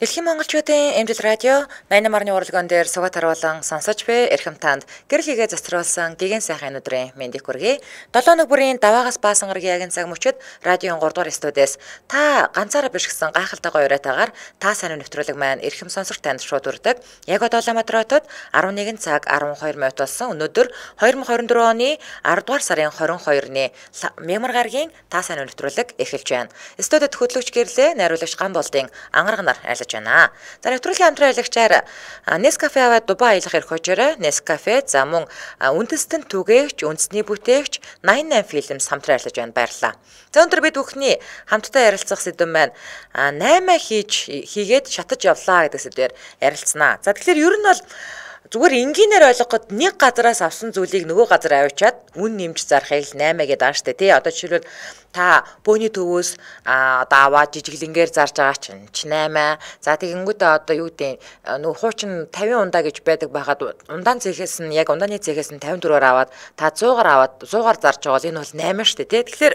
Дэлхийн монголчуудын эмзэл радио 88-ны уралдаан дээр сугат харуулан сонсож буй эрхэм танд гэрэл хийгээ заструулсан гигэн сайхан өдрийн мэндийг хүргэе. 7 өнөг бүрийн даваагаас баасан гарагийн ягийн цаг мөчид радион 3 дугаар студиэс та ганцаараа биш гэсэн гайхалтай уриатаагаар та сайн нэвтрүүлэг маань эрхэм сонсогч танд шууд хүрдэг. Яг одоо Улаанбаатар хотод 11 цаг 12 минут болсон. Өнөөдөр 2024 оны 10 дугаар сарын 22-ны мямар гарагийн та сайн нэвтрүүлэг эхэлж байна. Студид хөтлөгч гэрлээ найруулагч Гамболдын ангарганаар байна. За нэвтрүүлгийн хамтран аялагчаар Nescafe аваад Дубай аялах эрх хожоорой. Nescafe за мөн үндэстэн түгээгч, үндэсний бүтээгч 88 Films хамтран ажиллаж байна. Баярлалаа. За өнөөдөр бид бүхний хамтдаа ярилцах сэдэв маань 8 хийгээд шатаж явлаа гэдэг сэдвээр ярилцсанаа. За тэгэхээр ер нь бол зүгээр энгийнээр ойлгоход нэг газараас авсан зүйлийг нөгөө газар авчиад үн нэмж зарахыг 8 гэдэг ааш штэ тий. Одоо жишээлбэл та бөөний төвөөс одоо аваад жижиглэнгээр зарж байгаа чинь 8. За тэгэнгүүтээ одоо юу гэдэг нөгөө хуучин 50 ундаа гэж байдаг байхад ундааны цехээс нь яг ундааны цехээс нь 54-аар аваад та 100-аар аваад 100-аар зарж байгаа бол энэ бол 8 штэ тий. Тэгэхээр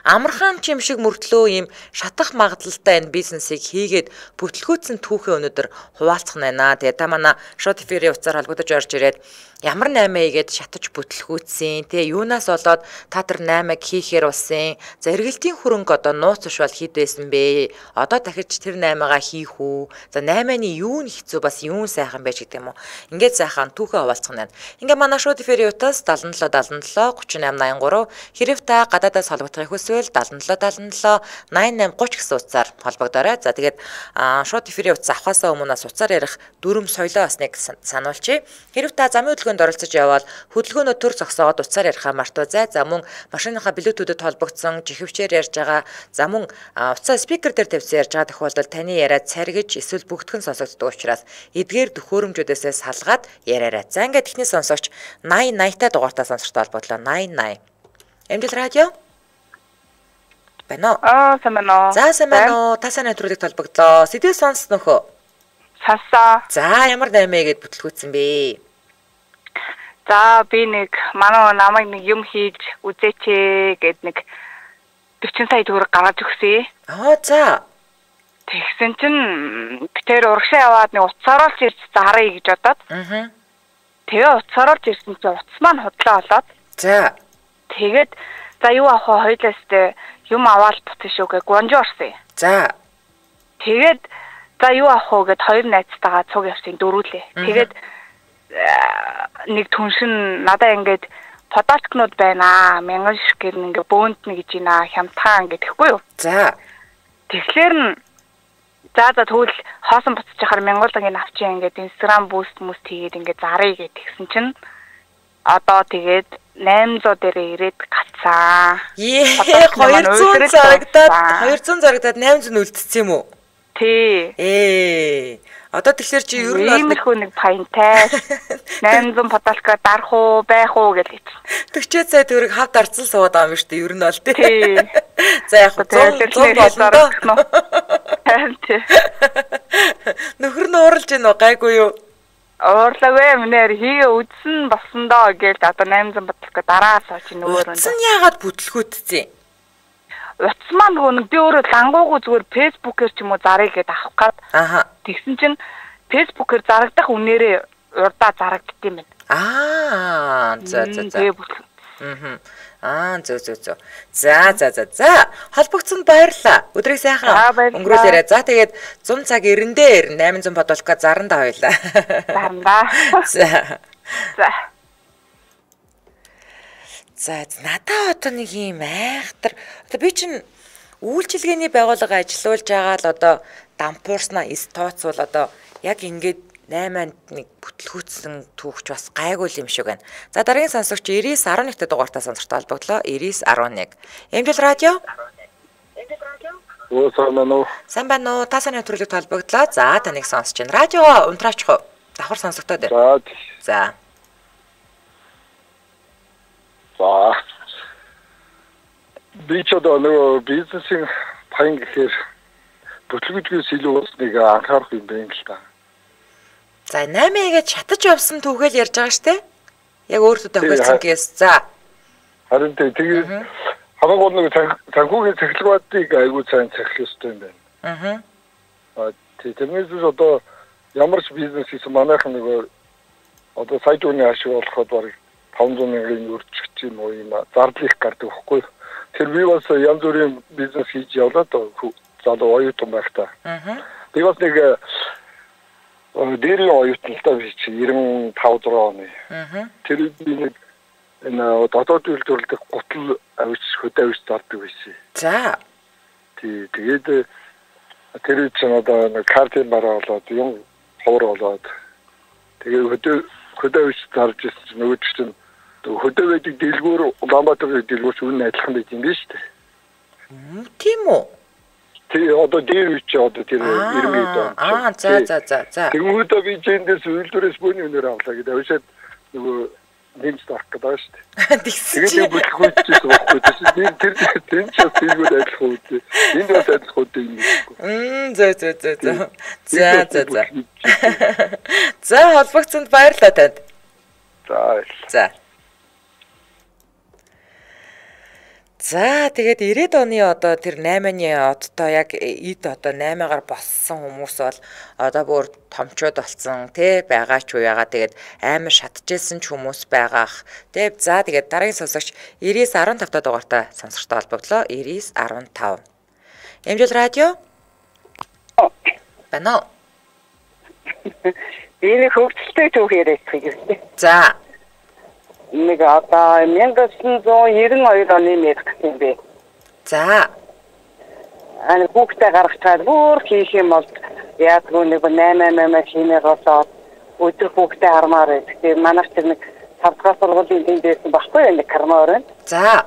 амархан чим шиг мөртлөө ийм шатах магадлалтай энэ бизнесийг хийгээд бүтлгүүцсэн түүхээ өнөдөр хуваалцах байна. Тэгээ та манай шууд эфирийн утсаар холбогдож орж ирээд ямар 8 ийгээд шатаж бүтлгүүцсэн тэгээ юунаас болоод та тэр 8-ыг хийхээр болсон. За эргэлтийн хөрөнгө одоо нууц ушвал хэд байсан бэ? Одоо дахиж тэр 8-аагаа хийх үү? За 8-ны юу нь хэцүү бас юу сайхан байж гэдэг юм уу? Ингээд сайхан түүхээ хуваалцах нь. Ингээ манай шууд эфирийн утас 77 77 38 83 хэрэг та гадаадаас холбогдохыг хүсвэл 77 77 88 30 гэсэн утсаар холбогдоорой. За тэгээд шууд эфирийн утас авахаасаа өмнө утсаар ярих дүрм соёлоо басныг сануулчих. Хэрэг та замын хөдөлгөөнд оролцож явбал хөдөлгөөнөө төр зогсоогоод утсаар ярихаа мартаузай. За мөн машиныхаа блютудэд холбогдсон жихвчээр ярьж байгаа. За мөн утсаа спикер дээр тавьсан ярьж байгаа тохиолдолд таны яриа царгиж эсвэл бүгдхэн сонсогддог учраас эдгээр төхөөрөмжүүдээс салгаад яриарай. За ингээд техник сонсогч 80 та дугаартаа сонсогчтой холбоодлоо 80. Эмзэл радио байна. Самано. За самано та сайн нэвтрүүлэг толбогдлоо. Сэдвээ сонс нөхөө. Сасаа. За ямар 8-гээд бүтлгүүцсэн бэ? За би нэг манай намайг нэг юм хийж үзээч гэд нэг 40 сая төгрөг гаргаж өгсөе. За. Тэгсэн чинь битээр урагшаа яваад нэг утсаар л ирж зараа гэж бодоод. Тэгээ утсаар л ирсэн чинь утас маань худлаа болоод. За. Тэгээд за юу авах вэ? Хоёлаастай юм аваад бутсан шүү гэ гонжо орсон. За. Тэгээд за юу авах вэ гэд хоёр найзтайгаа цуг явсан дөрүүлээ. Тэгээд нэг түншин надаа ингээд подолкнууд байна. Мянган шиг ингээд бөөнд нэг гэж ийна хямдхан ингээд гэхгүй юу. За. Тэгэхээр нь за тэгвэл хоосон буцаж яхаар мянгуулгийн авчи ингээд Instagram boost хийгээд ингээд зарыг гэдгсэн чинь одоо тэгээд 800 дээрээ ирээд гацсан. 200 зарагдаад 800 үлдсэн юм уу? Тий. Одоо тэгэхээр чи ер нь иймэрхүү нэг паянтай 800 подолка дарах уу, байх уу гэж хэлсэн. 40 сая төгрөг хавд арцсан суугаад байгаа юм шүү дээ. Ер нь бол тий. За яг 100 болно. Тий. Нөхөр нь ууралж гин үү? Гайгүй юу? Уурлаагүй минер хийгээ үдсэн болсон доо гэж одоо 800 бодолко дараас очи нөгөөрөнд. Утсан яагаад бүтлгүүтцээ? Утас маань нөгөө би өөрөө лангуугүй зүгээр фэйсбүүкээр ч юм уу зарыг гээд авах гад. Тэгсэн чинь фэйсбүүкээр зарагдах үнээрээ урдаа зарагддсан юм байна. За. За. Холбогдсон баярлаа. Өдрийг сайхан өнгөрүүлээрэй. За тэгээд 100 цаг 90 дээр 800 бодолко зарандаа хоёлаа. Зарандаа. За надаа одоо нэг юм айхтар. Одоо би чинь үйлчилгээний байгууллага ажиллуулж байгаа л одоо дампуурснаа тооцвол одоо яг ингээд 8-нд нэг бүтлгүүцсэн түүхч бас гайгүй юм шиг байна. За дараагийн сонсогч 9911 дугаартаа сонсогчтой холбогдлоо. 9911. Эмзэл радио? Сайн байна уу? Та сайн нэвтрүүлэг холбогдлоо. За таныг сонсож байна. Радио унтраачих уу? Давхар сонсогтой дээр. За. Би ч одоо нөгөө бизнесийн паян гэхээр бүтлгүүчгээс илүү усныг анхаарах юм байна л та. За 8-гээд шатаж явсан түүхэл ярьж байгаа штэ. Яг өөртөө тохиолдсон кейс. За. Харин тэгээд хамаагүй нэг санхүүгийн цахилгааныг айгүй сайн цахилах ёстой юм байна. Тэрнээс одоо ямар ч бизнес хийсэн манайхан нөгөө одоо сая дүүний ашиг олоход бараг 500 мянган өрчгч юм уу юм зардал их гардаг байхгүй. Тэр би бас янз бүрийн бизнес хийж явлаа доо залуу оюутан байхдаа. Би бас нэг дээрийн оюутналтаа би чи 95 оны. Тэр би нэг энэ дотоод үйлдвэрлэдэг гутал авич хөдөө авич зардаг байсан. За. Тэгээд тэр чинь одоо картын бараа болоод юм ховор болоод тэгээд хөдөө авич зарж ирсэн нөгөө чинь хөдөө байдаг дэлгүүр Улаанбаатарын дэлгүүрч үнэн адилхан байт юм биш үү? Тийм үү? Тэгээ одоо дээр үуч одоо тэр 90 дон. За. Тэгмүүдээ би зэндээс үйлдвэрээс бөөний өнөр авлаа гэдэг авшаад нөгөө нэмж тарах гэдэг байна шүү дээ. Тэгээд бүтлгүүчээс байхгүй тийм тэр ч тиймүүд адилхан үү. Энд бас адилхан үү юм. За. За холбогцсонд баярлалаа танд. За. За тэгээд 90-ад оны одоо тэр 8-ны одтой яг эд одоо 8-аар болсон хүмүүс бол одоо бүр томчууд болсон тий байгаа ч уяагаа тэгээд амар шатжсэн ч хүмүүс байгаах. За тэгээд дараагийн сонсогч 99.15 дугаартай сонсогчтой холбогдлоо 99.15. Эмжил радио. Бано. Энэ хөвгөлтэй түүх яриад байгаа. За. Нэг одоо 1992 оны мэрх юм бэ. За. Ани хүүхдээ гаргачаад бүр хийх юм бол яадгүй нэг 8 хийнээр болоод өдөр хүүхдээ хармаар байдаг. Тэгээ манайх тэр нэг 5 дахь сургуулийн энд байсан баггүй нэг кармаар байна. За.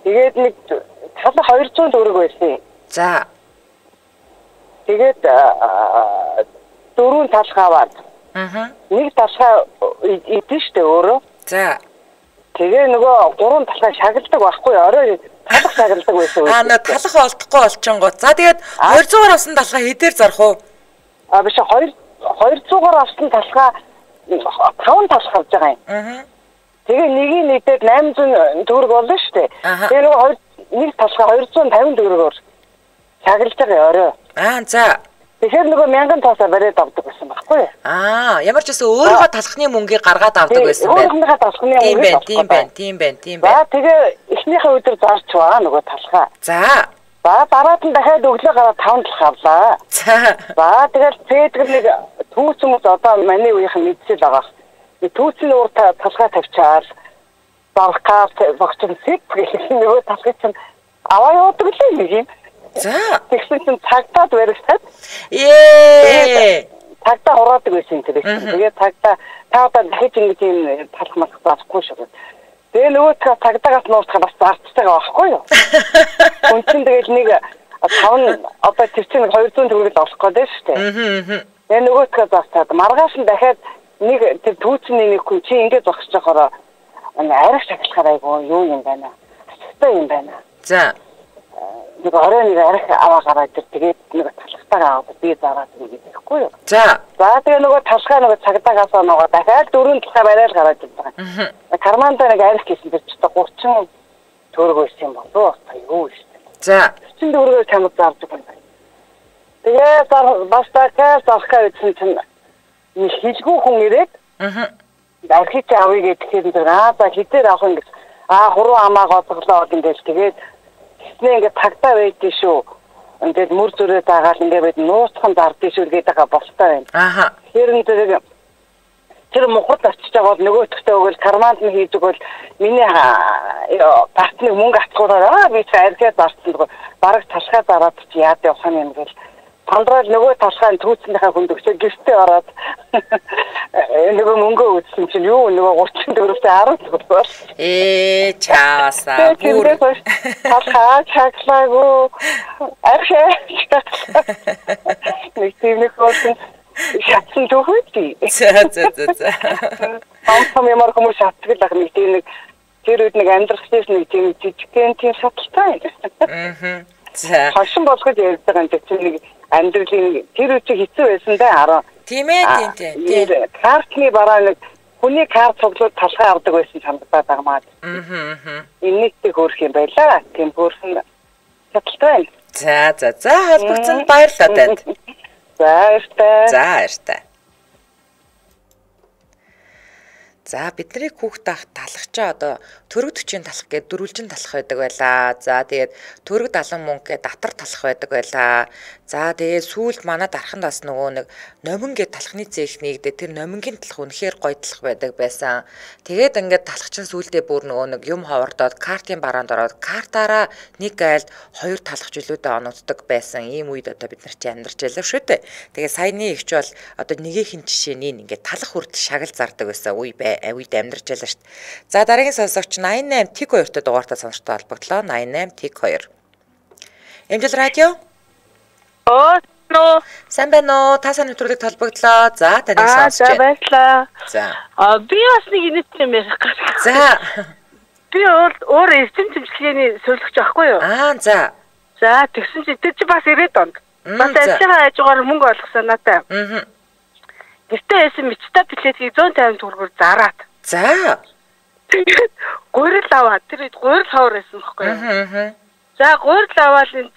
Тэгээд нэг цал 200 төгрөг байсан. За. Тэгээд дөрөв талхаваад. Нэг талхаа идэж штэ өөрөө. За. Тэгээ нөгөө гурван талхаа шагналдаг байхгүй орой талх шагналдаг байсан. Нөө талх олдохгүй болчингууд. За тэгээд 200-аар авсан талхаа хэдээр зарах уу? Биш 200-аар авсан талхаа 5 талх авч байгаа юм. Тэгээ нэгийг нийтээр 800 төгрөг болно штэ. Тэгээ нөгөө нэг талхаа 250 төгрөгөөр шагналж байгаа орой. За. Тэгэхээр нөгөө 1000 тоосоо бариад авдаг байсан байхгүй юу? Ямар ч гэсэн өөрийнхөө талхны мөнгийг гаргаад авдаг байсан байх. Өөрийнхөө талхны мөнгө. Тийм байна. За тэгээ эхнийхээ өдөр зарч байгаа нөгөө талхаа. За. Дараад нь дахиад өглөө гараад 5 талх авлаа. За тэгэл цэдгэр нэг түүц хүмүүс одоо маний үеийнхэн мэдсэл байгаа. Түүцний уур талхаа тавьчаад бархаа багчсан зэг гэх нөгөө талхыг чинь аваа явуудаг л юм юм. За. Тэгсэн чинь цагтаад баригсаад. Цагтаа ураадаг байсан тэр. Тэгээд цагтаа таадаа дахиж ингэж юм талах мах заахгүй шүү. Тэгээ нөгөө цагдаагаас нуурчаа бас зарцж байгаа байхгүй юу? Хүн чинь тэгээд нэг 5 одоо тэр чинь 200 төгрөг олох гэдэг шүү дээ. Тэгээ нөгөө зарцаад маргааш нь дахиад нэг тэр түүцний нэг хүн чи ингэж зогсож байхаараа арих шаглахаар айгу юу юм байна. Астай юм байна. За. Нэг орой нэг арих аваа гараад тэгээд нэг талхтайгаа аваад би зараад нэг гэхгүй юу. За тэгээ нөгөө талхаа нөгөө цагдаагаас нөгөө дахиад 4 талхаа барайл гараад ирдэг. Карманда нэг арих гэсэн тэр ч 30 төгрөг байсан юм болов уу? Юу шүү. За 30 төгрөгөөр чамд зардаг юм байна. Тэгээ бас дахиад зархаа ütсэн чинь нэг хилгүү хүн ирээд архич авъя гэхээр за хитээр авах юм гэж хуруу амаа гоцглоо гэнгээл тэгээд ингээ тагтаа байдгийн шүү. Ингээд мөр зүрээ дагаад ингээд нууцхан зардгийн шүү гэдэг байгаа болтой байна. Тэгэхээр тэр мухад очиж байгаа бол нөгөөдөгтөө өгөл карманд нь хийдэг бол миний партны мөнгө авцгаараа би цаархаа зарцсан бараг талхаа зараад чи яад явах юм гээл тандрал нөгөө талхааны түүцнийхээ хүнд өгчөө гэртээ ороод нөгөө мөнгө үзсэн чинь юу нөгөө 34-тэй 10 төгрөг. Чаасаа бүр талхаа чаглаагүй архаа нэг тийм нэг хөөсөн шатсан түүхий. За. Амтам ямар хүмүүс шатдаг нэг тийм нэг тэр үед нэг амьдрахчээс нэг тийм жижигхэн тийм шаталтай. За. Хашин болгож ярьж байгаа юм чинь нэг амьдралын тэр үчиг хэцүү байсан да 10. Тийм ээ тийм. Картны бараа нэг хүний карт цуглууд талхаа авдаг байсан санагдаад байгаа маа. Энэтэй хөөрх юм байла. Тийм хөөрхөн шаталтай байна. За холбогдсонд баярлалаа танд. За баяртай. За бидний хүүхд ах талхчаа одоо төрөг 40 талах гээд дөрвөлжин талах байдаг байлаа. За тэгээд төрөг 70 мөнгө гээд татар талах байдаг байлаа. За тэгээд сүүлд манай дарханд бас нөгөө нэг номин гээд талхны зээх нэгдээ тэр номингийн талах үнэхээр гоё талах байдаг байсан. Тэгээд ингээд талхчин сүүлдээ бүр нөгөө нэг юм ховордоод картын бараанд ороод картаараа нэг айлд 2 талах жилүүдэд оногддог байсан. Ийм үед одоо бид нар чи амьдарч байлаа шүү дээ. Тэгээд саяны ихч бол одоо нэгийнхэн жишээний ингээд талах хүртэл шагал зардаг байсан үед амьдарч байлаа шүү дээ. За дараагийн сонсогч 88 Тик 2-т дугаартаа сонсогчтой холбогдлоо. 88 Тик 2. Эмжил радио. Сайн байна уу? Та сайн нэвтрүүлэгт холбогдлоо. За таныг сонсож байна. За баярлалаа. За. Би бас нэг инэт юм ярих гэж. За. Би өөр эрдэм тэмцлэгийн зөвлөгч байхгүй юу? За. За тэгсэн чи тэр чи бас 90-д онд. Бас ажиллагаа хажуугаар мөнгө олгосон надаа. Гэртээ байсан мичта плетгийг 150 төгрөгөөр зараад. За. Тэгээд гурил аваад тэр гурил ховор байсан байхгүй юу? За гурил аваад энэ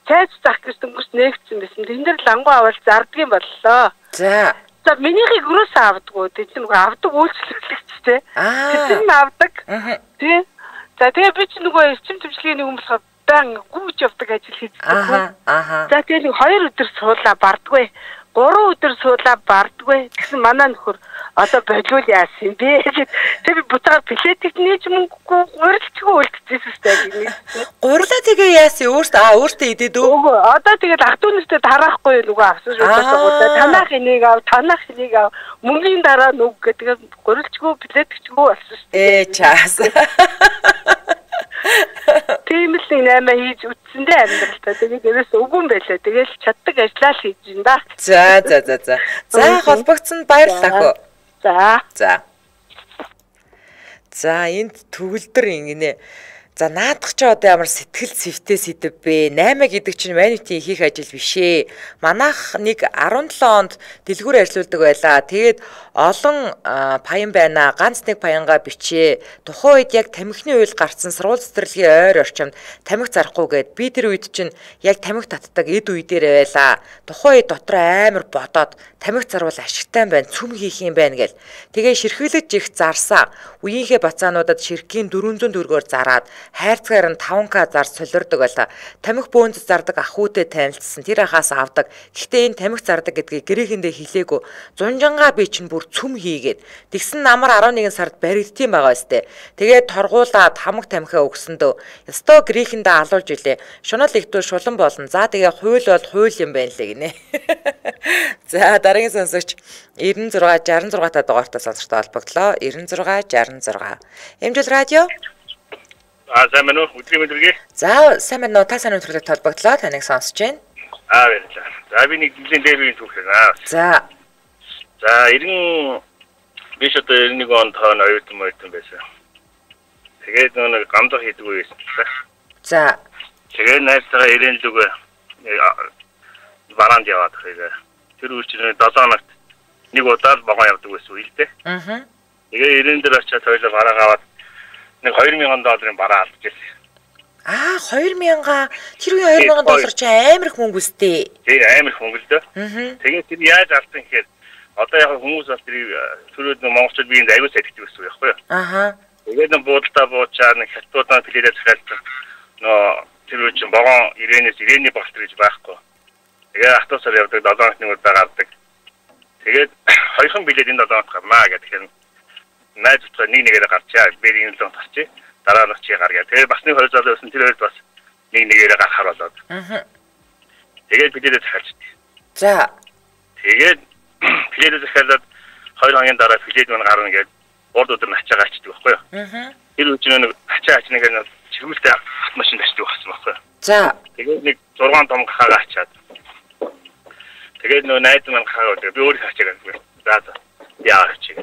цайз зах гэж дөнгөс нээгдсэн байсан. Тэн дээр лангуу аваад зардгийн боллоо. За. За минийхийг юус авдаггүй. Тэд нэг авдаг үйлчлэгчтэй. Тэд нь авдаг. Тий. За тэгээ би ч нөгөө эрчим төвчлэгийн нэг юм болохоор баян гүйж явдаг ажил хийдэг. За тэгээ нэг 2 өдөр суулаа бардгүй. 3 өдөр суулаа бардгүй. Тэгсэн манай нөхөр одоо болиул яасан бэ? Тэгээ би буцаад плетик нээж мөнгөгүй гурилчгүй үлдчихсэн сте. Гурлаа тэгээ яасан өөртөө идээд өө. Одоо тэгээд ах トゥ нэртэй тараахгүй нөгөө авсан шүү дээ. Танах энийг ав. Мөнгөний дараа нүг гэдэг гурилчгүй плетикчгүй болсон шүү дээ. Чаас. Тийм л 8 хийж үтсэндээ амьдралтай. Тэгээд ерөөс үгүй байлаа. Тэгэл чаддаг ажиллаа л хийж ин да. За. За холбогдсонд баярлалаа хөө. За энд төгөлдөр ингэнэ. За наадах ч одоо ямар сэтгэл зүйтэй сэдв бэ? 8 гэдэг чинь манитийн хийх ажил биш ээ. Манайх нэг 17 онд дэлгүүр ажилладаг байлаа. Тэгээд олон паян байна. Ганц нэг паянгаа бичээ. Тухайн үед яг тамхины уйл гарцсан сургууль цэцэрлэгийн ойр орчимд тамхи зарахгүй гээд би тэр үед чинь яг тамхи татдаг эд үе дээр байлаа. Тухайн үед дотор амар бодоод тамхи зарвал ашигтай байна, цүм хийх юм байна гэл. Тэгээ ширхэлж их зарсаа. Үеийнхээ бацаануудад ширхгийн 400 төгрөгөөр зараад хайрцгаар нь 5к зар солирдог байлаа. Тамхи бөөнц зардаг ахуйтай танилцсан. Тэр ахаас авдаг. Гэхдээ энэ тамхи зардаг гэдгийг гэрээхэндээ хэлээгүй. Зунжангаа би чинь бүр цүм хийгээд. Тэгсэн намар 11 сард баригдтiin байгаа өстэй. Тэгээд торгуулаад хамаг тамхиа өгсөндөө. Ёстой гэрээхэндээ алуулж илээ. Шунал ихтүү шулан болно. За тэгээ хууль бол хууль юм байна лээ гинэ. За дараагийн сонсогч 96 66 та дугаартаа сонсогчтой холбогдлоо. 96 66. Эмжил радио. Сайн байна уу? Өдрийн мэдрэг. За, сайн байна уу? Та сайн өдрөлт холбогдлоо. Таныг сонсож байна. Баярлалаа. За, би нэг жилийн дээрийн түүхлээ. За. За, 90 биш одоо 91 онд тоон оюутан байсан. Тэгээд нэг гамдах хийдэг байсан. За. Тэгээд найзтайгаа ирээн лүгэ бараанд яваад хэрэг. Тэр үчирээ 7 хоногт нэг удаа богоо явдаг байсан үйл дээ. Тэгээд ирээн дээр очиад хоёлоо бараа аваад нэг 2000 долларын бараа алдчихсан. 2000 тэр үе 2000 доллар чи амар их мөнгө үстэй. Тий, амар их мөнгө л дээ. Тэгээд тэр яаж алдсан гэхээр одоо яг хүмүүс бас түрүүд монголчууд биеинд аягүй сэтгдэг гэсэн үг байхгүй юу? Тэгээд нэг буудалтаа буучаад нэг хятадуудаа пледээ захиалдаг. Тэр үе чинь богоон ирээний болт гэж байхгүй. Тэгээд автобусаар явдаг 7 хоног нэг удаа гардаг. Тэгээд хоёрхан билет энэ 7 хоног гарнаа гэдэг. Найз зөвхөн нэгээр гарчаа. Бэрийн л гарчээ. Дараа нь чи гаргаа. Тэгээд бас нэг хоёр залуу байсан. Тэр хоёрд бас нэгээр гарахаар болоод. Тэгээд билетээ захиалчихсан. За. Тэгээд билетээ захиалаад 2 хоногийн дараа билет мань гарна гэж урд өдөр нь ачаа гачдаг байхгүй юу? Тэр үчиг нэг ачаа ачныг нь чиргүүлтэй машин ташдаг болсон байхгүй юу? За. Тэгээд нэг 6 том хаагаа ачаад. Тэгээд нөө найз мань хаагаа би өөрөө ачаа гэнэ. За. Яах чи.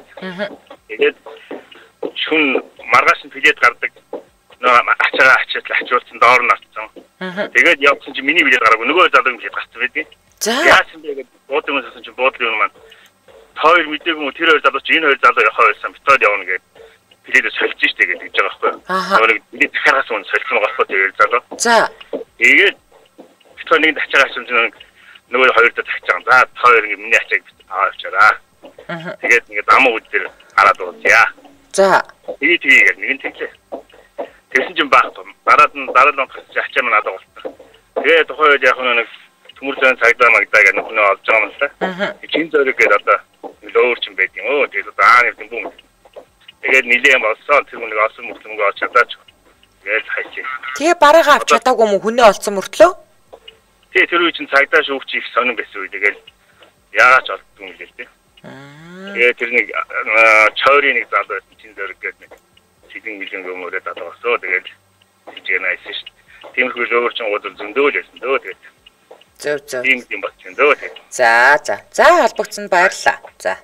Тэгээд шүн маргааш нь билет гардаг. Нөө ачаа ачуулсан доор нь авсан. Тэгээд явсан чи миний билет гараагүй нөгөө залуу билет гарсан байдیں۔ За. Яасан бэ гэдэг буудлын сонссон чи буудлын юм маань. Хоёр мэдээгүй мө тэр хоёр залуу чи энэ хоёр залуу явах байсан битод явна гэдэг билетээ сольж штэ гэж байгаа байхгүй юу. Нөгөө билет захиагаас өмнө сольсон байгаа байхгүй тэр залуу. За. Тэгээд болтгоо нэг тачаагаа чинь нөгөө хоёр дахь тачаа. За хоёр ингэ миний ачааг аваачаараа. Тэгээд ингээд амуу үд дээр хараад ууцъя. За. Тэгээд нэг нь тэглээ. Тэгсэн чинь баах том. Дараад нь ачаа маань надад болтоо. Тэгээд тухайн үед яг нэг төмөр зэн цагдаа магдаа гэх нөхнөө олж байгаа юм л та. Чин зөрөг гээд одоо лөөрч юм байт юм. Тэгээд одоо нэг юм бум. Тэгээд нилээн болсон тэр нэг осон мөртлөнгөө олж чадаач. Тэгээд хайчих. Тэгээ бараагаа авч чадаагүй юм хүнээ олцсон мөртлөө? Тэгээ тэр үе чинь цагдаа шүүгч их сонирн байсан үе. Тэгээд яагаад ч олдсон юм гэлээ. Тэгээд тэр нэг чойрын нэг зал байсан чин зөрөг гээд нэг сэтэн мэлэн гомөрөд адагсоо. Тэгээд хижээ найсан шүү. Тиймэрхүү лөөрч уудал зөндөөл байсан дөө. Тэгээд зөв. Тийм болсон дөө. За холбогдсонд баярлалаа.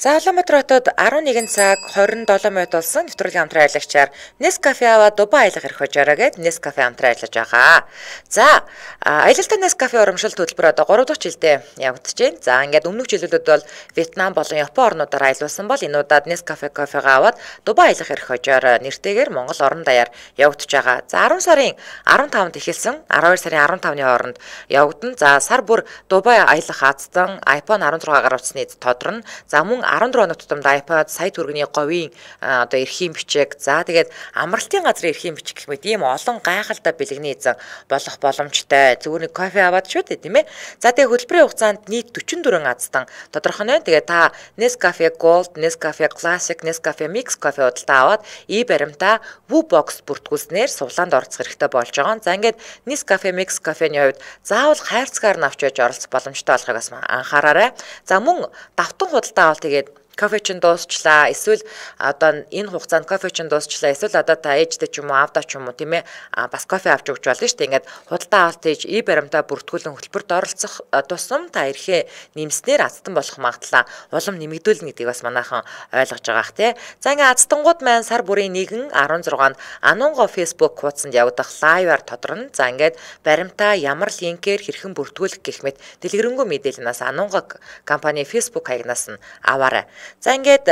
За Улаанбаатар хотод 11 цаг 27 минут болсон нэвтрүүлгийн хамтран аялагчаар Nescafe аваад Дубай аялах эрх хожоороо гээд Nescafe хамтран аялаж байгаа. За аялалтай Nescafe урамшил төлбөр одоо 3 дахь жилдээ явагдаж байна. За ингээд өмнөх жилүүдэд бол Вьетнам болон Япон орнуудаар аялуулсан бол энэ удаад Nescafe кофегаа аваад Дубай аялах эрх хожоороо нэртэйгээр Монгол орон даяар явагдаж байгаа. За 10 сарын 15-нд эхэлсэн 12 сарын 15-ны хооронд явагдана. За сар бүр Дубай аялах аздан iPhone 16 гаргацсны тодорно. За мөн 14 хоног тутамд iPad сая төгрөгийн говийн одоо эрхийн бичиг за тэгээд амралтын газрын эрхийн бичиг гэх мэт ийм олон гайхалтай бэлгэний эзэн болох боломжтой. Зүгээр нэг кофе аваад шүү дээ тийм ээ. За тэгээд хөтөлбөрийн хугацаанд нийт 44 азтан тодорхой нэ. Тэгээд та Nescafe Gold, Nescafe Classic, Nescafe Mix кофе худалдаа аваад баримтаа WooBox бүртгүүлснээр сувлаанд оролцох хэрэгтэй болж байгаа. За ингээд Nescafe Mix кофений хувьд заавал хайрцгаар нь авч яж оролцох боломжтой болохыг бас анхаараарай. За мөн давтан худалдаа авал тэгээд кофе чин дуусчлаа эсвэл одоо энэ хугацаанд кофе чин дуусчлаа эсвэл одоо та ээжтэй ч юм уу аавдаа ч юм уу тийм ээ бас кофе авч өгч болно шүү дээ. Ингээд худалдаа авалт хийж баримтаа бүртгүүлэн хөтөлбөрт оролцох тусам та эрхээ нэмснээр азтан болох магадлал улам нэмэгдүүлнэ гэдгийг бас манайхан ойлгож байгаа х тий. За ингээд азтангууд маань сар бүрийн 1-16-нд Анунго Facebook хуудсанд явагдах лайваар тодорно. За ингээд баримтаа ямар линкээр хэрхэн бүртгүүлэх гэх мэт дэлгэрэнгүй мэдээлэлнээс Анунго компани Facebook хаягнаас нь аваарай. За ингээд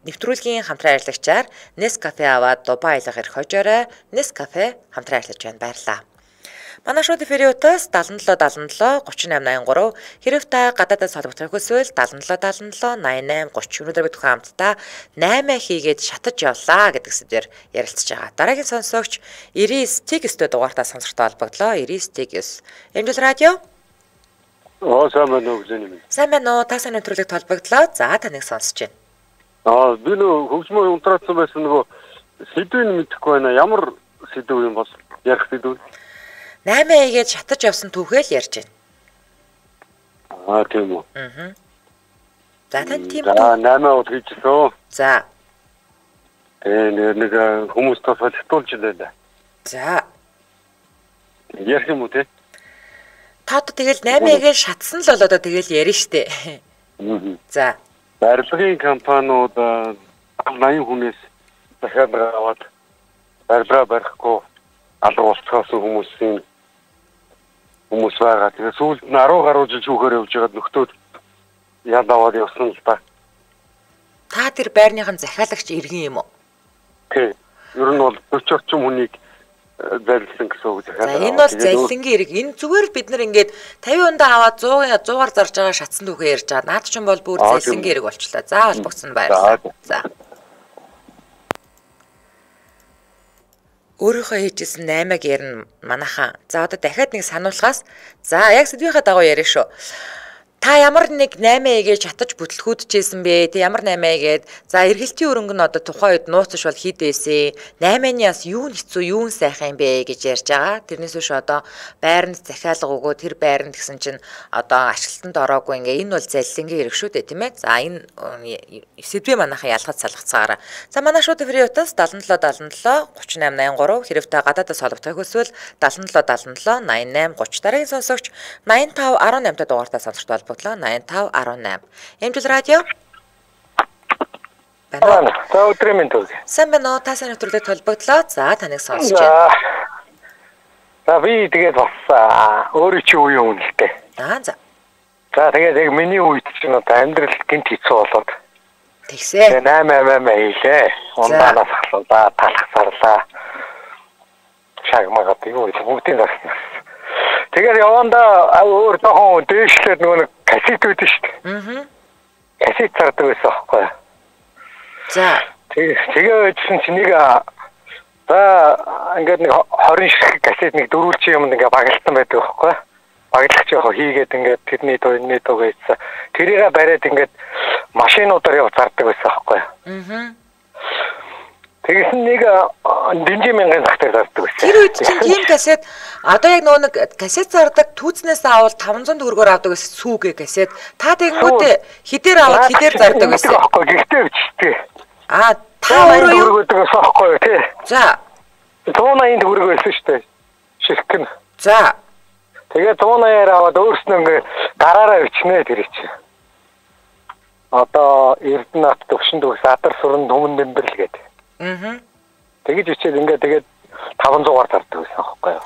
нэвтрүүлгийн хамтран аялагчаар Nescafe аваад Дубай аялах эрх хожоорой Nescafe хамтран ажиллаж байна. Баярлалаа. Манай шууд эфириутаас 77 38 83 хэрэг та гадаадаас холбогдох хүсвэл 77 88 30 өнөөдөр бид хамтдаа 8 хийгээд шатаж явлаа гэдэг сэдвээр ярилцж байгаа. Дараагийн сонсогч 99 Tigis-тэй дугаартаа сонсортой холбогдлоо. 99 Tigis. Эмжил радио. Сайн байна уу гэж юм. Сайн байна уу? Та сайн нэвтрүүлэгт холбогдлоо. За таныг сонсож байна. Би нөө хөгжмөө унтраацсан байсан нөгөө сэдвийг мэдэхгүй байна. Ямар сэдв юм бол ярих сэдв? 8 хийгээд шатаж явсан түүхээ л ярьж байна. Тийм үү. За тань тийм үү. За 8 удаа хийчихсэн. За. Нэг хүмүүс тасгал хатуулж байлаа. За. Ярих юм уу те? Та одоо тэгэл 8-ыг шатсан л бол одоо тэгэл ярина штэ. За. Барилгын компаниуд 80 хүнээс дахиад аваад барилгаа барихгүй алга болцоосон хүмүүс байгаа. Тэгээ сүүлд нь 10 гаруй жил шүүхээр явж байгаад нөхдөөд яд аваад явсан л та. Та тэр байрныхан захиалагч иргэн юм уу? Тий. Ер нь бол 40 орчим хүнийг зарилсан гэсэн үг захиалга. За энэ бол залилангийн хэрэг. Энэ зүгээр бид нар ингээд 50 ундаа аваад 100-аар зарж байгаа шатсан түүхээ ярьж байгаа. Наад чинь бол бүр залилангийн хэрэг болчлаа. За холбогдсон баярлалаа. За. Өөрийнхөө хийжсэн 8-ыг ярина манайхан. За одоо дахиад нэг сануулгаас за яг сэдвийнхаа дагуу ярина шүү. Та ямар нэг 8-ыг шатаж бүтлгүүдчихсэн бэ? Тэ ямар 8-ыг за эргэлтийн өрөнгө нь одоо тухайн үед нууцш бол хэд байсан? 8-аас юу хэцүү, юу сайхан юм бэ гэж ярьж байгаа. Тэрнээс биш одоо байранд захиалга өгөө тэр байранд гэсэн чинь одоо ашиглалтанд ороогүй ингээ энэ бол залилангийн хэрэг шүү дээ тийм ээ. За энэ сэдвээ манайхан ялгаж салгацгаараа. За манай шууд эфириутаас 77 38 83 хэрэг та гадаадаас холбогдох хүсвэл 77 88 30 дараагийн сонсогч 85 18 дугаартаа сонсогч 85 18. Эмжил радио. Байна. Та өдрийн мэнд төргий. Сайн байна уу? Та сайн нэвтрүүлэгт холбогдлоо. За таныг сонсож байна. За би тэгээд бас өөрөө чи үе үнэлтэй. За. За тэгээд яг миний үед чинь одоо амьдрал гинт хэцүү болоод. Тэгсээ. 8 хийлээ. Ундаанаас ахлаа, талхсарлаа. Шагмагаад юу вэ? Бүгдийн засна. Тэгээд явандаа өөр жоохон дээшлээд нөгөө кассет үүдэн шүү дээ. Кассет зардаг байсан аахгүй. За. Тэгээ өчсөн чинь нэг за ингээд нэг 20 ширхэг кассет нэг дөрвөлжин юмд ингээд баглсан байдаг аахгүй. Баглагч яг хийгээд ингээд тэрний дууны дуу гэсэн. Тэрийг бариад ингээд машинуудаар яв зардаг байсан аахгүй. Тэгсэн нэг дэнжи мянган захтар зардаг байсан. Тэр үед чинь тийм кассет одоо яг нөгөө нэг кассет зардаг түүцнээс авал 500 төгрөгөөр авдаг гэсэн сүүгээ кассет. Та тэгэнгүүтээ хідээр аваад хідээр зардаг байсан. Аахгүй гэхдээ өчтэй. Та өөрөө юу гэдэг аахгүй тий. За. 180 төгрөг байсан шүү дээ. Ширхэг нь. За. Тэгээ 180-аар аваад өөрснөө ингээ гараараа өчнөө тэр чинь. Одоо Эрдэнэт төвшин төгс Адар суран түмэн дэмбэрл гэдэг. Тэгэж ичээд ингээ тэгээд 500-аар зардаг байсан аахгүй юу?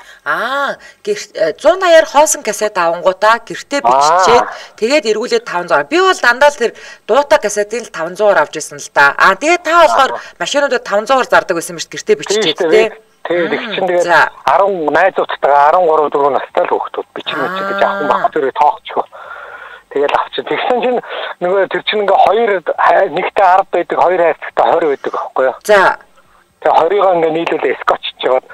180-аар хоосон кассет авангуудаа гэртээ биччихээд тэгээд эргүүлээд 500. Би бол дандаа л тэр дуутай кассетыг 500-аар авч ирсэн л да. Тэгээд та болохоор машинуудад 500-аар зардаг байсан юм шиг гэртээ биччихээд тий. Тэгээд их чинь тэгээд 10 найзуудтайгаа 13 4 настай л хүүхдүүд бичин гэж авах баг тэрийг тоохчихоо. Тэгээд авчих. Тэгсэн чинь нөгөө тэр чинь ингээ хоёр нэгтэй 10 байдаг, хоёр хайрцагтай 20 байдаг аахгүй юу? За. Тэгээ 20-ыг ингээ нийлүүлээ скотчж жагаад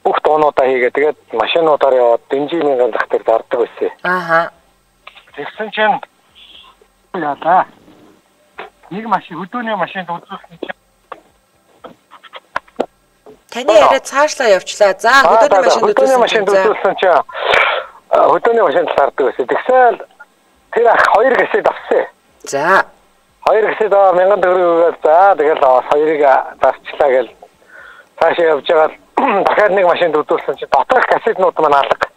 бүх дуунуудаа хийгээ. Тэгээд машинуудаар яваад дэнжи мянган захтар зардаг байсан. Тэгсэн чинь яа. Нэг машин хөдөөний машинд үзүүлсэн чинь таны яриа цаашлаа явчлаа. За хөдөөний машинд үзүүлсэн чинь хөдөөний машинд зардаг байсан. Тэгсэн тэр ах 2 кассет авсан. За. 2 кассет 1000 төгрөгөөр за тэгэл хоёрыг зарчлаа гэл цаашаа явж байгаа дахиад нэг машинд үзүүлсэн чинь доторх кассетнууд маань алга.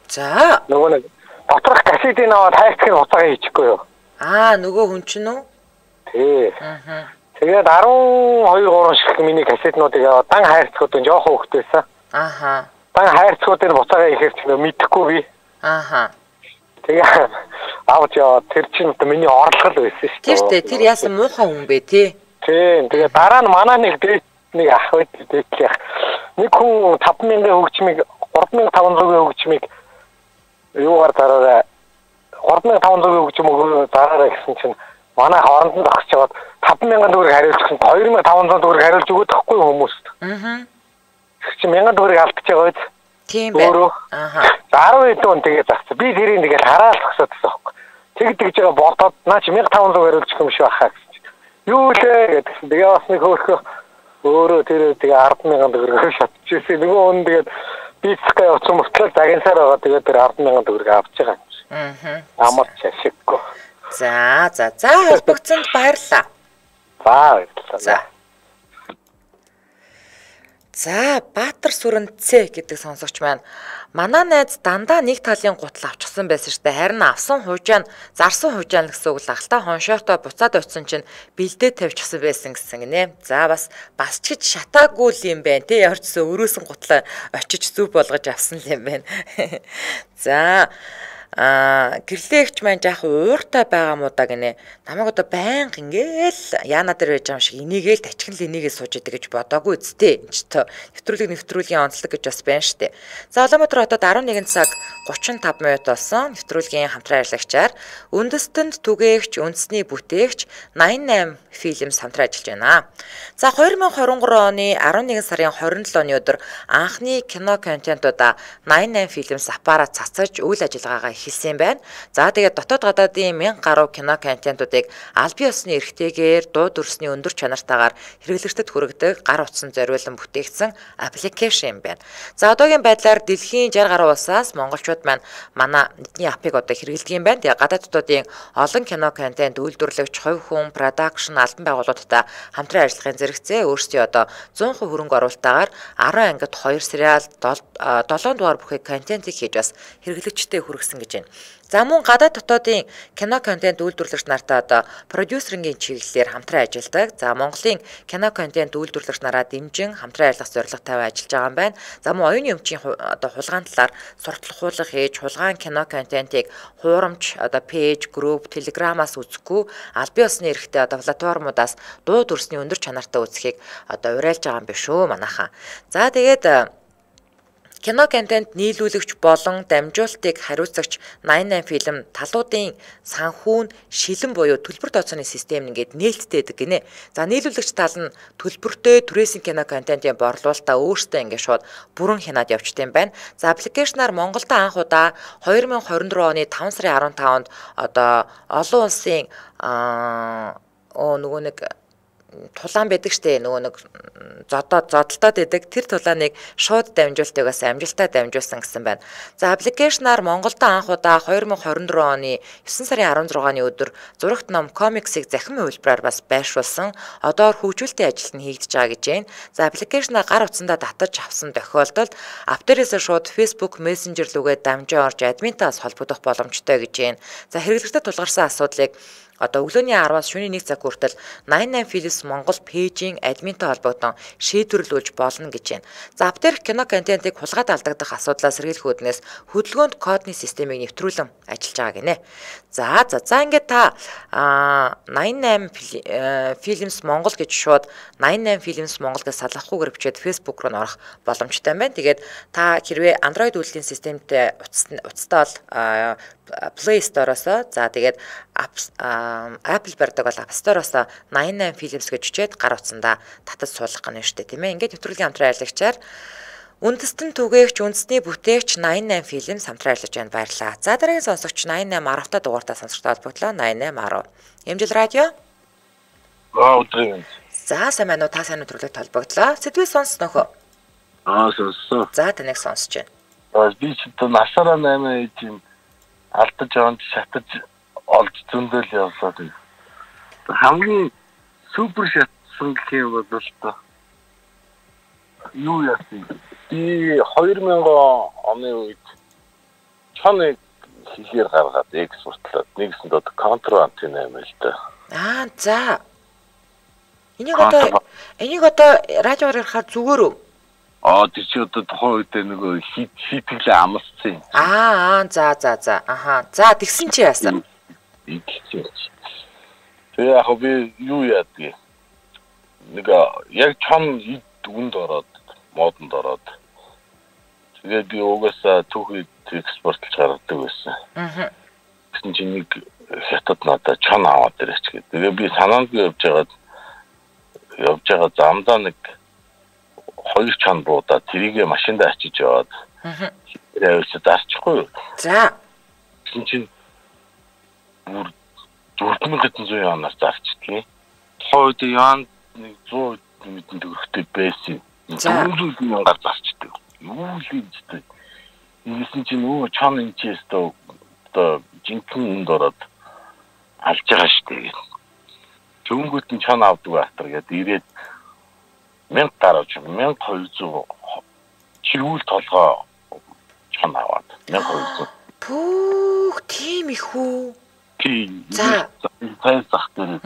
За. Нөгөө нэг доторх кассетыг аваад хайрцагын хуцаага хийчихгүй юу? Нөгөө хүн чинь үү? Тий. Тэгээд 12 3 шиг миний кассетнуудыг аваад дан хайрцагуудын жоохон хөвгтөөсөн. Дан хайрцагуудын буцаага ихээр ч мэдэхгүй би. Тэгээ авч яваад тэр чинь миний орлогол байсан шүү дээ. Тэр яасан муухай хүн бэ тий. Тийм. Тэгээ дараа нь манай нэг ах дээдлэх. Нэг хүн 5000 хөгжмийг 3500-ийн хөгжмийг юугаар зараарай. 3500-ийн хөгжим өгөө зараарай гэсэн чинь манай хооронд нь зогсож яваад 5000 төгрөг хариулж гэсэн 2500 төгрөг хариулж өгöd тахгүй хүмүүст. Чи 1000 төгрөг алдчихж байгаа биз? Тийм байна. 10 хэдэн хүн тэгээ зарцсан. Би тэрийг тэгэл хараад зогсоод байсан байхгүй. Тэгж байгаа бодоод наа чи 1500 хариулж өгөх юм шиг байхаа гэсэн чинь. Юу лээ гэдгсэн. Тэгээ бас нэг хөөхөө өөрөө тэр тэгээ 100000 төгрөг шатчихсэн. Нөгөө хүн тэгээд бицгээ явуулсан мөртлөө загинсаар байгаа тэгээд тэр 100000 төгрөг авч байгаа юм. Амар чашиггүй. За холбогдсонд баярлалаа. Баярлалаа. За Баатар сүрэн Ц гэдэг сонсогч маань манай найз дандаа нэг талын гутал авчихсан байсан штэ. Харин авсан хуужаа нь зарсан хуужаа л гэсэн үг л ахalta хоншоортой буцаад очсон чинь бэлдээ тавьчихсан байсан гэсэн гинэ. За бас ч гэж шатаагүй юм байна те. Ямар ч гэсэн өрөөсөн гутлаа очиж зүв болгож авсан юм байна. За гэрлээгч маань жаах ууртай байгаа мó да гинэ. Намайг одоо байнга ингээл яана дээр байж байгаа юм шиг энийгээл тачгал энийгээ сууж идэг гэж бодоогүй үсттэй. Энд ч нэвтрүүлгийн онцлог гэж бас байна штэ. За Улаанбаатар хотод 11 цаг 35 минут болсон. Нэвтрүүлгийн хамтран ажиллагчаар үндэстэнд түгээгч, үндэсний бүтээгч 88 Films хамтран ажиллаж байна. За 2023 оны 11 сарын 27 оны өдөр анхны кино контентуудаа 88 Films аппарат цацаж үйл ажиллагаагаа хэлсэн байна. За тэгээд дотоод гадаадын 1000 гаруй кино контентуудыг аль бие усны эрхтэйгээр дуу дүрсний өндөр чанартаагаар хэрэглэгчдэд хүргэдэг гар утсан зориулан бүтээгдсэн аппликейшн юм байна. За одоогийн байдлаар дэлхийн 60 гаруй улсаас монголчууд маань манай эдний апыг одоо хэрэглэдэг юм байна. Тэгээд гадаадуудын олон кино контент үйлдвэрлэгч, хувь хүн, продакшн, албан байгууллагуудтай хамтран ажиллахын зэрэгцээ өөрсдөө одоо 100% хөрөнгө оруулалтаагаар 10 ангид 2 сериал 7 дугаар бүхий контентыг хийж бас хэрэглэгчдэд хүргэсэн гэж байна. За мөн гадаад дотоодын кино контент үйлдвэрлэгч нартай одоо продюсерингийн чиглэлээр хамтран ажилладаг. За Монголын кино контент үйлдвэрлэгч нараа дэмжин хамтран ажиллах зорилготой ажиллаж байгаа юм байна. За мөн оюуны өмчийн одоо хулгаан талаар сурталхуулга хийж, хулгаан кино контентыг хуурамч одоо пэйж, групп, телеграмаас үзэхгүй аль бие усны эрхтэй одоо платформудаас дуу дүрсний өндөр чанартай үзэхийг одоо уриалж байгаа юм биш үү манайхаа. За тэгээд Кино контент нийлүүлэгч болон дамжуулалтыг хариуцагч 88 фильм талуудын санхүү нь шилэн буюу төлбөр тооцооны систем нэгээд нээлттэйдэг гинэ. За нийлүүлэгч тал нь төлбөртэй түрээсийн кино контентын борлуулалтаа өөрсдөө ингээд шууд бүрэн хянаад явжтай юм байна. За аппликейшнаар Монголд анх удаа 2024 оны 5 сарын 15-нд одоо олон улсын нөгөө нэг тулаан байдаг штэ нөгөө нэг зодолтоод байдаг тэр тулааныг шууд дамжуулалтаас амжилттай дамжуулсан гэсэн байна. За аппликейшнаар Монголд анх удаа 2024 оны 9 сарын 16-ны өдөр зурагт ном комиксыг захимын хөлбраар бас байршуулсан. Одоор хөгжүүлэлтийн ажил нь хийгдэж байгаа гэж байна. За аппликейшнаа гар утсандаа татаж авсан тохиолдолд ап дээрээс шууд Facebook Messenger рүүгээ дамжин орж админтаас холбогдох боломжтой гэж байна. За хэрэглэгчдэд тулгарсан асуудлыг одоо өглөөний 10-аас шөнийн 1 цаг хүртэл 88 Films Монгол пэйжийн админтай холбогдсон шийдвэрлүүлж болно гэж байна. За ап дээрх кино контентыг хулгайд алдагдах асуудлаас сэргийлэх үүднээс хөдөлгөөнд кодны системийг нэвтрүүлэн ажиллаж байгаа гинэ. За ингээд та 88 Films Монгол гэж шууд 88 Films Монгол гэж салгахгүйгээр бичээд Facebook руу орох боломжтой байна. Тэгээд та хэрвээ Android үйлдвэрлэлийн системтэй уцтаа бол Play Store-оос за тэгээд Apple барьдаг бол App Store-оос 88 Films гэж үчээд гар утсандаа татаж суулгах гэнэ штэ тийм ээ. Ингээд нэвтрүүлгийн хамтран ажиллагчаар үндэстэн түгээгч үндэсний бүтээгч 88 Films хамтран ажиллаж байна. Баярлалаа. За дараагийн сонсогч 88 10-та дугаартаа сонсогчтой холбогдлоо 88 10. Эмжил радио. Өдрийн. За сайн байна уу? Та сайн нэвтрүүлэгт холбогдлоо. Сэдвээ сонссноо хөө? Сонссоо. За таныг сонсож байна. Би ч насаараа 8 тийм алдаж аваад шатаж олж зөндөл явсаад байна. Хамгийн супер шатсан гэх юм бол та юу яасан? Би 2000 оны үед чоныг хийхээр гаргаад экспортлоод нэгсэнд одоо контрант юм л да. За. Энийг одоо радиоор ярихаар зүгээр үү? Тэр чи одоо тухайн үед нөгөө хитэглээ амсцсан. За. За тэгсэн чи яасан? Тэгээ яг би юу яадгийг. Яг чон үнд ороод, модонд ороод. Тэгээд би угаасаа түүхийд экспортлж гаргадаг байсан. Гэсэн чинь нэг хятад надад чон аваад ирээч гэдэг. Тэгээ би санаанд явж байгаа замдаа нэг 2 чон буудаа тэрийгэ машинд ачиж яваад. Тэрээс зарчихгүй юу? За. Гэсэн чинь 4700 янаар зарчдгийг. Хойд яан нэг 100 мэдэн төгрөгтэй байсан. 400 мянгаар зарчдаг. Юу л ийдтэй. Ингэсэн чинь чон энэчээс одоо жинхэнэ үнд ороод алж байгаа штэ. Төнгөт нь чон авдаг байтар гэдэг ирээд 1000 гарч 1200 чирүүл толгоо чон аваад 1200. Пүүх тийм их үү? Тийм. За зах дээр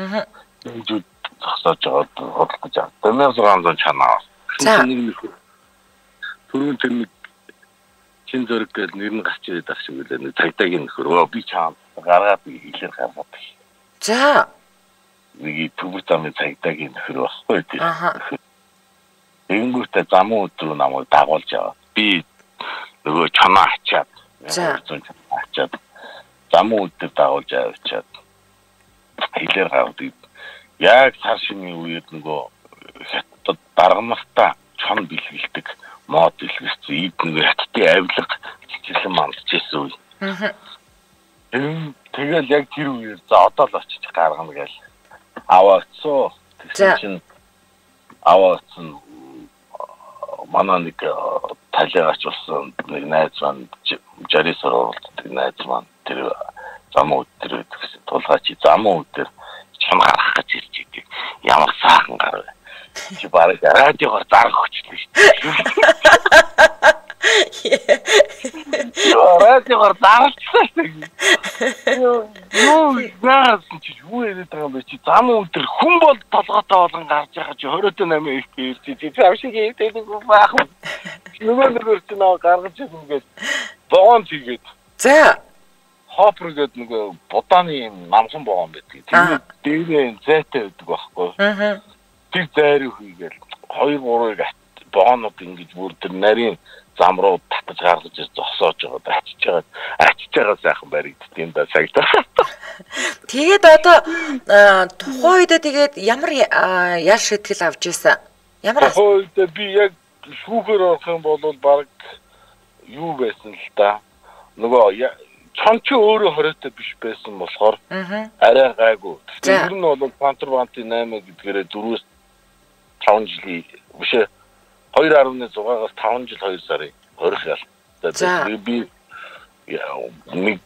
зүйл зогсоож байгаа бодлож байгаа. 1600 чон аваад. За түрүүн тэр нэг чин зөрөг гэл нэр нь гарч ирээд ах шиг үлээ. Цагдаагийн нөхөр би чам гаргаад хэлээр гаргаад. За нэг түбэр замын цагдаагийн нөхөр байхгүй тийм. Энгүүтээ замун өдрөө намайг дагуулж аваад би нөгөө чоноо ачаад 1200 чоноо ачаад замун өдөр дагуулж авчаад хэлээр гардаг. Яг цар шинийн үед нөгөө хятад даргамахта чон бэлгэлдэг мод бэлгэлсэн ийд нөгөө хятадын авилга чиглэн мандчихсэн үе. Тэгэл яг тэр үеэр за одоо л очиж гаргана гээл аваацсан. Тэгсэн чинь аваацсан манай нэг талигач болсон нэг найз маань жарис оролцдог найз маань тэр замун өдөр гэсэн тулгаач замун өдөр чам гарах гэж ирж идэг. Ямар саахан гар вэ? Чи бараг радиогоор зарах хүчлээ шүү дээ. Радиогоор зарчихсан шүү. Юу яасан чи юу яриад байгаа юм бэ? Чи замун өдөр хүн бол толгойтой болгон гарч байгаа чи 28 их ирж чи авшиг хийдэг байх юм. Нөгөө чи наа гаргаж ирнгээд богоон чигээд. За хопер гэдэг нөгөө будааны намхан богоон байдаг. Тэр дээрээ зайтай байдаг байхгүй. Тэр зайрыг хийгээл 2-3-ыг богоонууд ингэж бүр тэр нарийн зам руу татаж гаргаж зогсоож байгаа ачиж байгаа сайхан баригдтiin да сагдаа. Тэгээд одоо тухайн үед тэгээд ямар ял шийтгэл авч ийсэн? Ямар тухайн үед би яг шүүхээр орох юм бол баг юу байсан л да. Нөгөө чонч өөрөө хоройтой биш байсан болохоор арай гайгүй. Тэр нь бол контрабандын 8 гэдгээрээ 4-5 жилийн биш 2.6-аас 5 жил 2 сарын хорих ял. Би нэг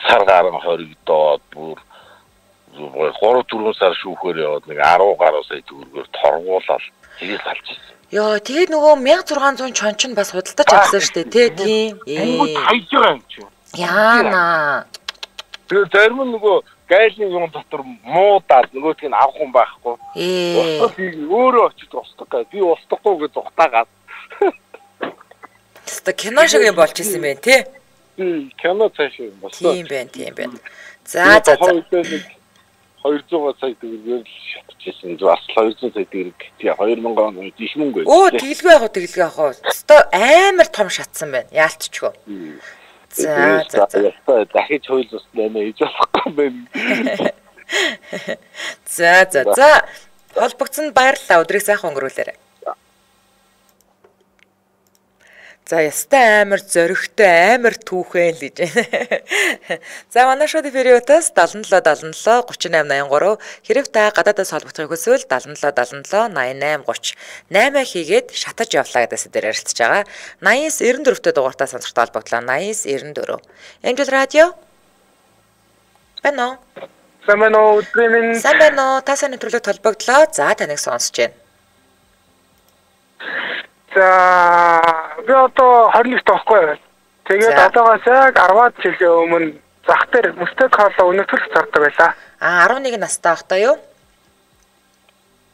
сар гарan хоригдоод бүр 3-4 сар шүүхээр яваад нэг 10 гаруй сая төгрөгөөр торгуулаад тэгээд алж ирсэн. Яа, тэгээд нөгөө 1600 чонч нь бас худалдаж авсан шүү дээ, тийм. Хайж байгаа юм чи. Яана. Тэгээд зарим нь нөгөө гайлын юм дотор муудаад нөгөөдгийг нь авах юм байхгүй. Өөрөө очиж устдаг. Би устдахгүй гэж ухтаагаад. Тэстэ кино шиг юм болж исэн байх тий. Кино цааш юм болсон. Тийм байна. За. 200 сая төгрөгөөр шатчихсан. Бас 200 сая төгрөг тий 2000 он их мөнгө. Оо тэглгүй яах вэ? Тэстэ амар том шатсан байна. Яалтчгүй. За. Дахиж хууль ус нэмээ хийж болохгүй байна. За. Холбогдсонд баярлалаа. Өдрийг сайхан өнгөрүүлээрэй. За ястай амар зөрөгтэй амар түүхэн л гэж байна. За манай шоуд периодоос 77 77 3883 хэрэг та гадаадаас холбогдохыг хүсвэл 77 77 88 30 8 хийгээд шатаж явлаа гэдээс дээр ярилцж байгаа. 89 94-т дугаартаа сонсогтой холбогдлоо. 89 94. Angel Radio. Бано. Самбано тасаа нэвтрүүлэгт холбогдлоо. За таныг сонсож байна. За би одоо 21-т байхгүй. Тэгээд одоогоос яг 10-аад жилийн өмнө зах дээр мөстэй кола өнөтөлж зардаг байлаа. 11 настай байхдаа юу?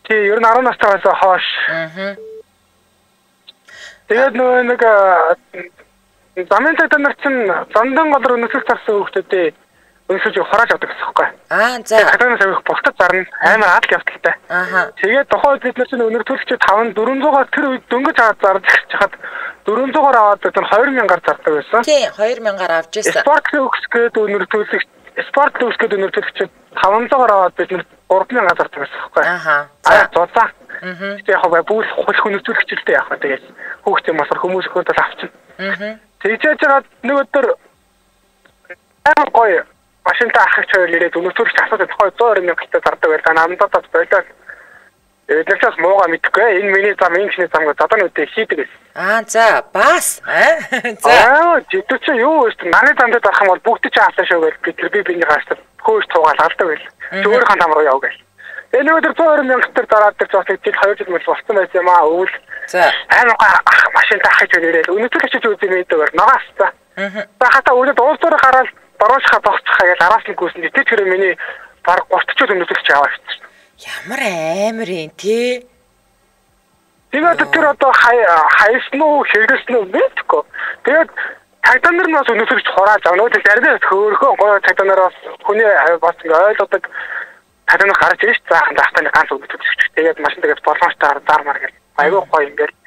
Тий, ер нь 10 настайгаас хойш. Тэгээд нөгөө нэг замын цагдаа нар чинь зандан голор өнөтөлж зарсан хүмүүстэй өнөсөж хурааж авдаг гэсэн юм байна. За. Хатанаас авих богтод зарна. Амар адал явдалтай. Тэгээд тухайд бид нар чинь өнөртөлч 400-аар тэр үед дөнгөж аваад зарж хахад 400-аар аваад бид 2000-аар зардаг байсан. Тий, 2000-аар авч ирсэн. Спорт төвс гээд өнөртөлч 500-аар аваад бид 3000-аар зардаг байсан юм байна. Зузаа. Тэгээд яг бүх хөлхөнөртөлч л дээ яг. Тэгээд хүүхдийн масар хүмүүс хөнтөл авчихна. Тэгээд жаад нэг өдөр амар гоё машинтай ахих чойр ирээд өнөтөлч асууад тухай 120,000-тай зардаг байлаа. Намдаад болоод эдгээрээс муугаа мэдхгүй. Энэ миний зам шинэ зам гэж одоо нүдээ хийдэг гэсэн. За бас. За. Жидүүч юу вэ? Манай замд зарах юм бол бүгд ч хаалаа шүү гэж би биний хаастаа хөөж цугаал алдаг байл. Өөрийнхөө зам руу яв гээл. Энэ өдөр 120,000-тай зараад тэр зоолыг жил 2 жил мэл болсон байсан юм аа. Өвөл. За. Амар машинтай ахих чойр ирээд өнөтөлч үзээ мэдээгээр нагаас та. За хата үлээд уулзаар гараад баруушха тогтцохаа гэж араас нь гүйсэн. Тэр хэрэг миний баг 30 жил өнөтөлч аваа хэвчээ. Ямар амар юм тий. Тэгээд тэр одоо хайсан уу хэрэгсэн үү мэдгүй. Тэгээд цагдаа нар нас өнөтөлч хурааж авна. Нөгөө зарим хөөхөө гоё цагдаа нараас хүний бас ойлгодог цагдаа нар гарч ирж заахан даахтаа ганц өнөтөлч. Тэгээд машинтайгаас боломжтой зармаар гэл. Айгүй гоё ингээл.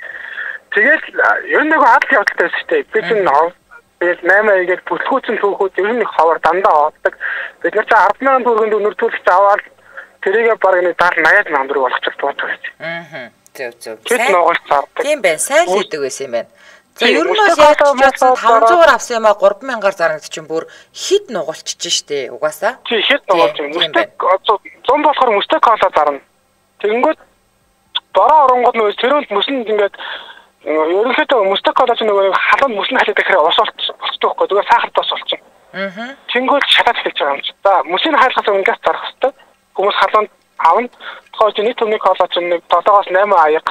Тэгээд ер нь нэг адал явдалтай байсан шүү дээ. Би чинь тэгээд 8 игээд бүтлгүүцэн түүхүүд ер нь хавар дандаа авдаг. Бид нар ч 10,000 төгрөнд өнөртүүлж аваад тэрийгээ баг нэг 70-80,000 төгрөг болгочих дуудаг байсан. Зөв. Тийм байна. Сайн л хийдэг байсан юм байна. За ер нь бол яг ч 500-аар авсан юм а 3,000-аар зарна гэдэг чинь бүр хит нугалчиж штэ угаасаа. Тий хит нугалж юм. Зам болохоор мөстэй кола зарна. Тэгэнгүүт бороо оронгод нөөс тэрүүнд мөсөнд ингээд ерөнхийдөө мөстэй кола чинь нөгөө халуун мөсний халаад ихээр ус болчихдог байхгүй. Тэгээ сахар тос болчихно. Тэнгүүт шатаад хэлж байгаа юм чи. За мөсний хайлахаас өмнө газ зарах хэрэгтэй. Хүмүүс халуунд авна. Тохиолж нэг төмний кола чинь 7-8 аяг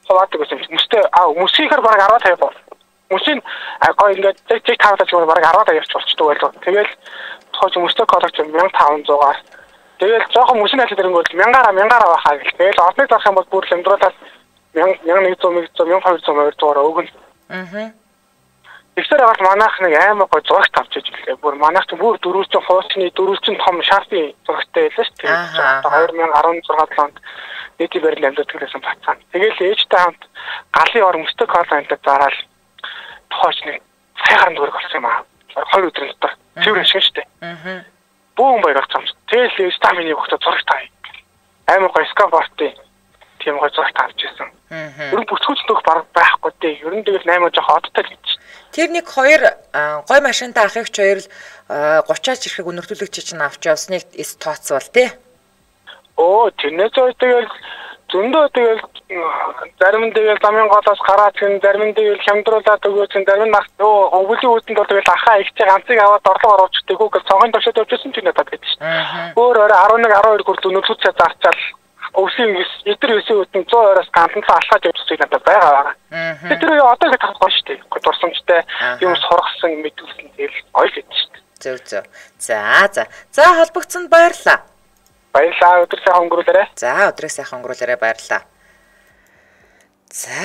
хаваадаг гэсэн. Мөсийхэр бараг 10-50 бол. Мөсийн гоё ингээд тэг тавтаж байгаа бараг 10 болчихдог байлоо. Тэгэл тохиолж мөстэй кола чинь 1500-аар. Тэгэл жоохон мөсний хайлах ирэнгүүт 1000-аар авахаа гэл. Тэгэл орныг зарах юм бол бүр лэмдрүүлээд 1100-1200-аар өгнө. Ихсээр аваад манайх нэг аймаг гой зурагт авч иж гэлээ. Бүр манайх ч бүр 400 хуучны 400 том шарпи зурагтай байлаа шүү дээ. Одоо 2016 онд нийтийн барилын амьд төлөөсөн бацсан. Тэгээл ээжтэй хамт галын ор мөстэй кола амтад зараад тохиолж нэг цагаан дөрөг болсон юм аа. 2 өдрийн дотор цэвэр шиг штэ. Бүүн баяр авсан. Тэгэл стамины өгтө зураг таа. Амар гоё скафортын тийм гоё зураг тавьж ирсэн. Ер нь бүсгүүч нөх байхгүй дээ. Ер нь тэгэл 8 жоох одтой л гэж. Тэр нэг 2 гой машинтай ахыгч 2 л 30-аач ирэхийг өнөртүүлэгч чинь авч явсныг тооцвол тий. Тэрнээс тэгэл зөндөө тэгэл зарим нь тэгэл замын голоос гараад гэн зарим нь тэгэл хямдруулаад өгөөч зарим нь өвлийн үүдэнд бол тэгэл ахаа ихтэй ганцыг аваад орлого оруулчихдаг үгүй цонхын төвшөд явчихсан ч надад гэдэг шүү дээ. Өөр 11 12 хүртэл өнөртүүлцээ зарчаал өвлийн эдэр өсөө үтэн 100 ороос ганцхан алхаад явчихсан надад байгаа. Тэр одоо их тахгүй шүү дээ. Дурсамжтай юм сургасан мэдүүлсэн тэгэл ойл гэдэг шүү дээ. Зөв. За холбогдсонд баярлалаа. Баярлалаа. Өдөр сайхан өнгөрүүлээрэй. За өдрөө сайхан өнгөрүүлээрэй баярлалаа. За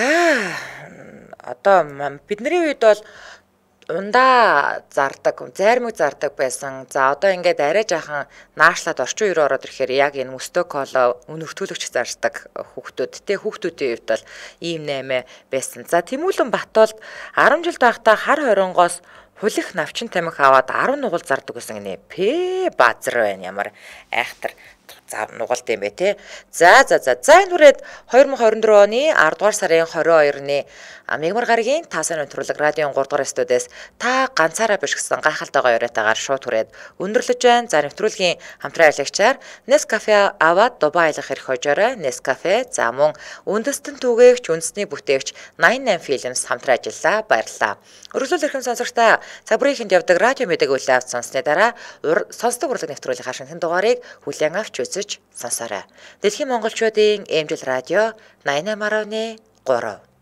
одоо бидний үед бол ундаа зардаг, зайрмаг зардаг байсан. За одоо ингээд арай жаахан наашлаад орчин үеэр ороод ирэхээр яг энэ мөстөө коло өнөртүүлэгч зардаг хүүхдүүд те хүүхдүүдийн үед бол ийм 8 байсан. За Тэмүүлэн Батуулд 10 жил байхдаа хар хорионгоос хулих навчин тамхи аваад 10 нугал зардаг гэсэн гинэ. Базар байна ямар айхтар нугалт юм бэ те. За энэ үрээд 2024 оны 10 дугаар сарын 22-ны Мегмар гарагийн таасан өнтрлэг радион 3 дугаар студиэс та ганцаараа биш гэсэн гайхалтай яриатаагаар шууд хүрээд өндөрлөж байна. За нэвтрүүлгийн хамтран ажиллагчаар Nescafe аваад Дубай аялах хэрэг хожоорой. Nescafe за мөн үндэстэн түгээгч, үндэсний бүтээгч 88 Films хамтран ажиллаа. Баярлалаа. Өргөжлөл эрхэм сонсогчдаа цаг бүрийн хэнд явдаг радио мэдээг үлээ авч сонссны дараа сонсдог урлаг нэвтрүүлгийн хашигтын дугаарыг хүлээн авч үзэж сонсоорой. Дэлхийн монголчуудын эмжил радио 88.3